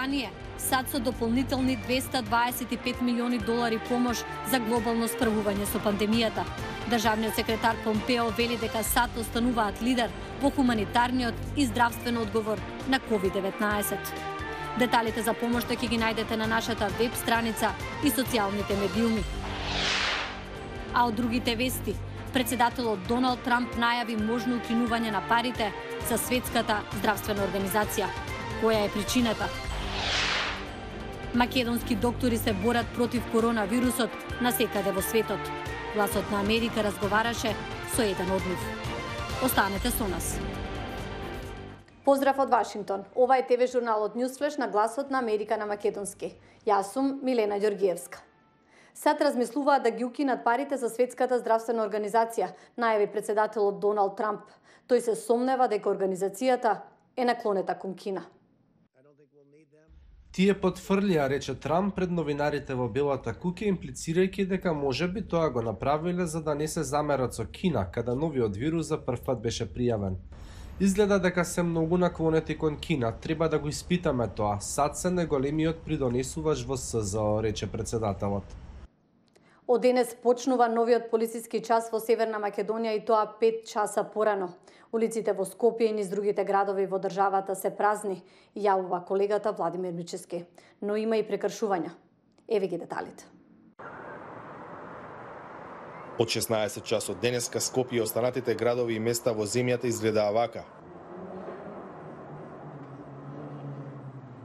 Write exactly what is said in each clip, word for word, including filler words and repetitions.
Британија, САД со дополнителни двеста дваесет и пет милиони долари помош за глобално справување со пандемијата. Државниот секретар Помпео вели дека САД остануваат лидер во хуманитарниот и здравствен одговор на ковид деветнаесет. Деталите за помошта ќе ги најдете на нашата веб страница и социјалните медиуми. А од другите вести, председателот Доналд Трамп најави можно укинување на парите за Светската здравствена организација. Која е причината? Македонски доктори се борат против коронавирусот насекаде во светот. Гласот на Америка разговараше со еден од нив. Останете со нас. Поздрав од Вашингтон. Ова е ТВ журналот Newsflash на Гласот на Америка на македонски. Јас сум Милена Ѓоргиевска. САД размислуваат да ги укинат парите за Светската здравствена организација, најави председателот Доналд Трамп. Тој се сомнева дека организацијата е наклонета кон Кина. Тие потврлија, рече Трамп пред новинарите во Белата куќа, имплицирајќи дека можеби тоа го направиле за да не се замерат со Кина, каде новиот вирус за прв пат беше пријавен. Изгледа дека се многу наклонети кон Кина, треба да го испитаме тоа. САД се најголемиот придонесувач во СЗО, рече председателот. Од денес почнува новиот полициски час во Северна Македонија и тоа пет часа порано. Улиците во Скопје и низ другите градови во државата се празни, јавува колегата Владимир Мичевски. Но има и прекршувања. Еве ги деталите. Од шеснаесет часот денеска Скопје и останатите градови и места во земјата изгледаа вака.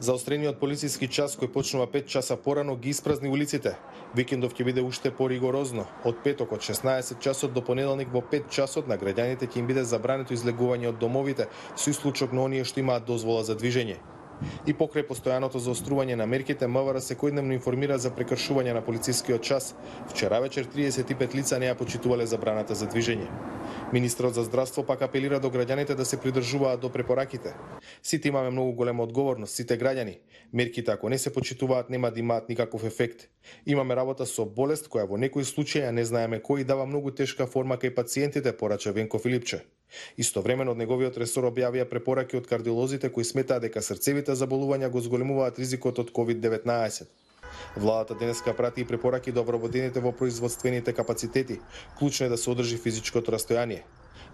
Заострениот полициски час кој почнува пет часа порано ги испразни улиците. Викендов ќе биде уште поригорозно. Од петок од шеснаесет часот до понеделник во пет часот на граѓаните ќе им биде забрането излегување од домовите со исклучок на оние што имаат дозвола за движење. И покрај постојаното заострување на мерките, МВР секојдневно информира за прекршување на полицискиот час. Вчера вечер триесет и пет лица не ја почитувале забраната за движење. Министрот за здравство пак апелира до граѓаните да се придржуваат до препораките. Сите имаме многу голема одговорност, сите граѓани. Мерките ако не се почитуваат нема да имаат никаков ефект. Имаме работа со болест која во некои случаи не знаеме кој дава многу тешка форма кај пациентите, порача Венко Филипче. Истовремено од неговиот ресор објавија препораки од кардиолозите кои сметаат дека срцевите заболувања го зголемуваат ризикот од ковид деветнаесет. Владата денеска прати и препораки до вработените во производствените капацитети. Клучно е да се одржи физичкото растојание.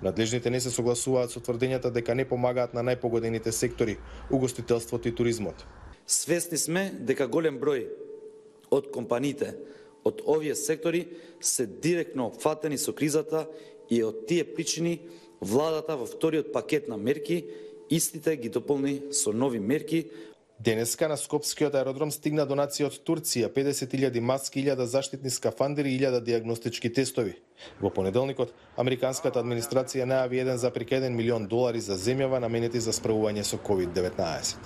Надлежните не се согласуваат со тврдењата дека не помагаат на најпогодените сектори, угостителството и туризмот. Свесни сме дека голем број од компаниите од овие сектори се директно опфатени со кризата и од тие причини владата во вториот пакет на мерки истите ги дополни со нови мерки. Денеска на Скопскиот аеродром стигна донација од Турција, педесет илјади маски, илјада заштитни скафандери и илјада дијагностички тестови. Во понеделникот, американската администрација најави еден запир еден милион долари за земјава наменети за справување со ковид деветнаесет.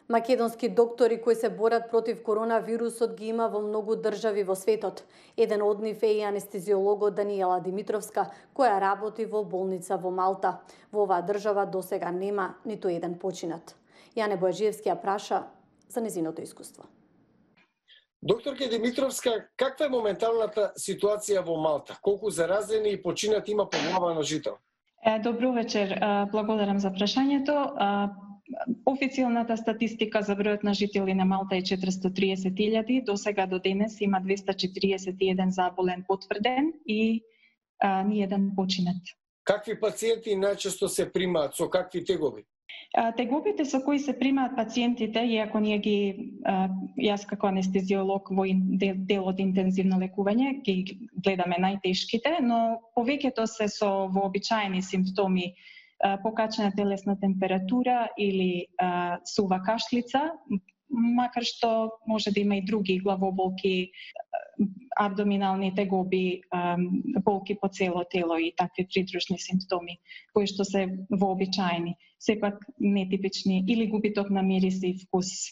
Македонски доктори кои се борат против коронавирусот ги има во многу држави во светот. Еден од нив е и анестезиологот Даниела Димитровска, која работи во болница во Малта. Во оваа држава досега нема ниту еден починат. Јане Бојаджиевски ја праша за незиното искуство. Докторке Димитровска, каква е моменталната ситуација во Малта? Колку заразени и починати има по глава на жител? Добро вечер, благодарам за прашањето. Официјалната статистика за бројот на жители на Малта е четиристотини и триесет илјади, до сега до денес има двеста четириесет и еден заболен потврден и а, ни еден починат. Какви пациенти најчесто се примаат, со какви тегоби? Тегобите со кои се примаат пациентите, иако ние ги, јас како анестезиолог во дел од интензивно лекување, ги гледаме најтешките, но повеќето се со вообичаени симптоми, покачена телесна температура или а, сува кашлица, макар што може да има и други главоболки, абдоминални тегоби, а, болки по цело тело и такви придружни симптоми, кои што се вообичаени, сепак нетипични, или губиток на мирис и вкус.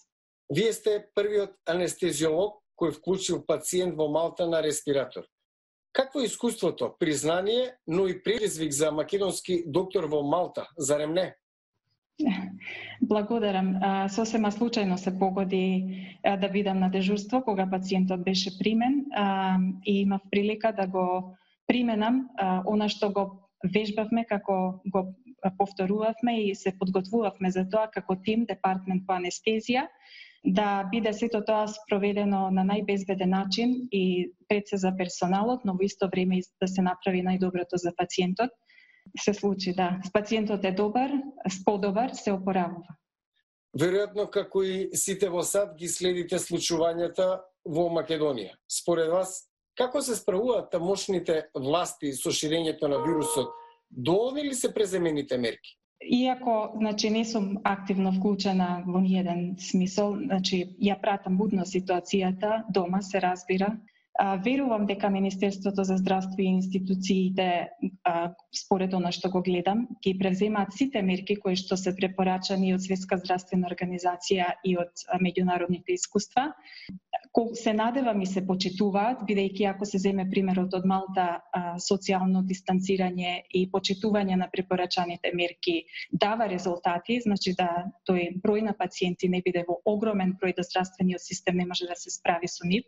Вие сте првиот анестезиолог кој вклучил пациент во Малта на респиратор. Какво е искуството, признание, но и предизвик за македонски доктор во Малта, зарем не? Благодарам. Сосема случајно се погоди да бидам на дежурство кога пациентот беше примен и имав прилика да го применам она што го вежбавме како го повторувавме и се подготвувавме за тоа како тим, департмент по анестезија, да биде сето тоа спроведено на најбезбеден начин и пред се за персоналот, но во исто време да се направи најдоброто за пациентот. Се случи, да. Пациентот е добар, подобар, се опоравува. Веројатно, како и сите во САД, ги следите случувањата во Македонија. Според вас, како се справуваат тамошните власти со ширењето на вирусот? Доволни ли се преземените мерки? Иако, значи, не сум активно вклучена во ниеден смисол, значи, ја пратам будно ситуацијата дома, се разбира. А, верувам дека Министерството за здравство и институциите, а, според она што го гледам, ги превземаат сите мерки кои што се препорачани од Светска здравствена организација и од а, меѓународните искуства. Колку се надевам и се почитуваат, бидејќи ако се земе примерот од Малта, а, социјално дистанцирање и почитување на препорачаните мерки дава резултати, значи да тој број на пациенти не биде во огромен број да здравствениот систем не може да се справи со нив.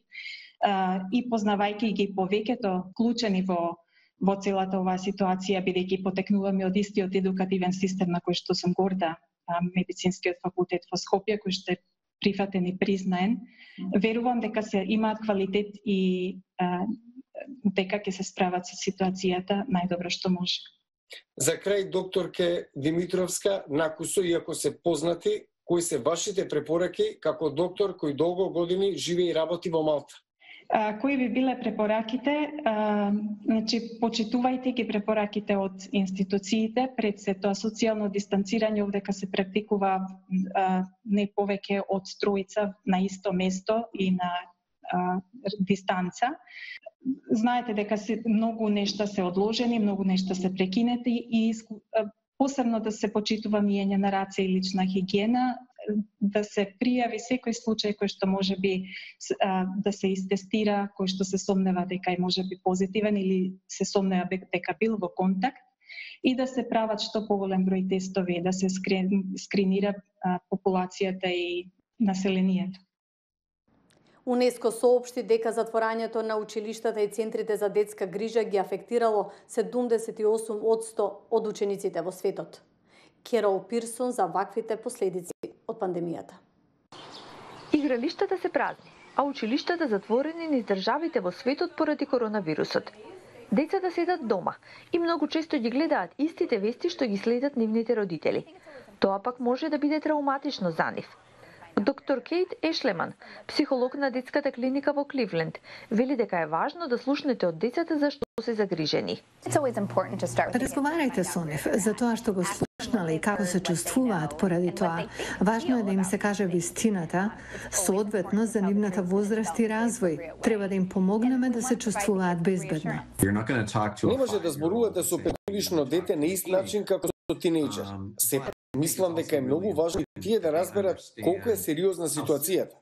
Uh, и познавајќи ги повеќето вклучени во во целата оваа ситуација, бидејќи потекнуваме од истиот едукативен систем на кој што сум горда, а, медицинскиот факултет во Скопје, кој што е прифатен и признаен, верувам дека се имаат квалитет и а, дека ќе се справат со ситуацијата најдобро што може. За крај, докторке Димитровска, накусо, иако се познати, кои се вашите препораки како доктор кој долго години живее и работи во Малта? А, кои би биле препораките? А, значи, почитувајте ги препораките од институциите, пред се тоа социјално дистанцирање овдека се практикува а, не повеќе од тројца на исто место и на а, дистанца. Знаете дека се, многу нешта се одложени, многу нешта се прекинети и а, посебно да се почитува миење на раце и лична хигиена, да се пријави секој случај кој што може би а, да се истестира, кој што се сомнева дека е може би позитивен или се сомнева дека бил во контакт и да се прават што поголем број тестови, да се скрин, скринира а, популацијата и населението. УНЕСКО соопшти дека затворањето на училиштата и центрите за детска грижа ги афектирало седумдесет и осум одсто од учениците во светот. Керол Пирсон за ваквите последици од пандемијата. Игралиштата се празни, а училиштата затворени низ државите во светот поради коронавирусот. Децата седат дома и многу често ги гледаат истите вести што ги следат нивните родители. Тоа пак може да биде трауматично за нив. Доктор Кейт Ешлеман, психолог на детската клиника во Кливленд, вели дека е важно да слушнете од децата за што се загрижени. Разговарајте со нив за тоа што го слушнале и како се чувствуваат поради тоа. Важно е да им се каже вистината, соодветно за нивната возраст и развој. Треба да им помогнеме да се чувствуваат безбедно. Не може да зборувате со петгодишно дете на ист начин како со тинејџер. Сепак мислам дека е многу важно и тие да разберат колку е сериозна ситуацијата.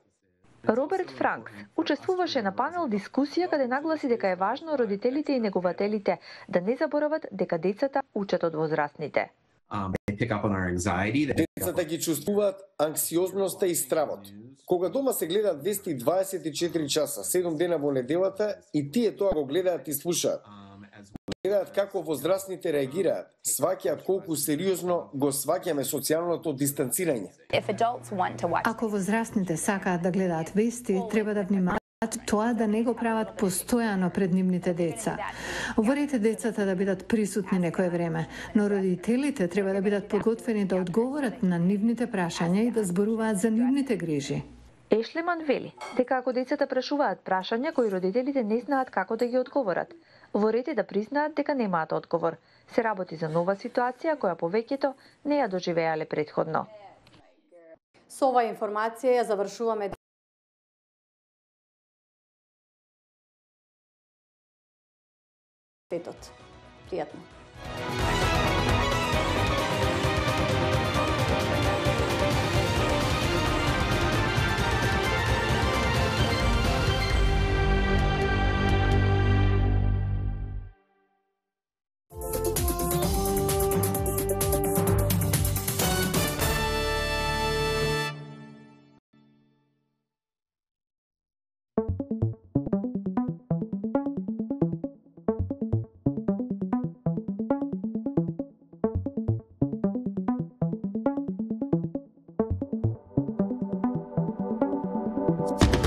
Роберт Франкс учествуваше на панел дискусија каде нагласи дека е важно родителите и негователите да не заборават дека децата учат од возрастните. Децата ги чувствуваат анксиозноста и стравот. Кога дома се гледаат вести дваесет и четири часа, седум дена во неделата и тие тоа го гледаат и слушаат. Гледаат како возрастните реагираат, сваќаат колку сериозно го сваќаме социјалното дистанцирање. Ако возрастните сакаат да гледаат вести, треба да внимаваат тоа да не го прават постојано пред нивните деца. Говорете децата да бидат присутни некое време, но родителите треба да бидат подготвени да одговорат на нивните прашања и да зборуваат за нивните грижи. Ешлеман вели дека ако децата прашуваат прашања кои родителите не знаат како да ги одговорат, во ред е да признаат дека немаат одговор. Се работи за нова ситуација која повеќето не ја доживеале претходно. Со оваа информација ја завршуваме светот. Пријатно. Thank you.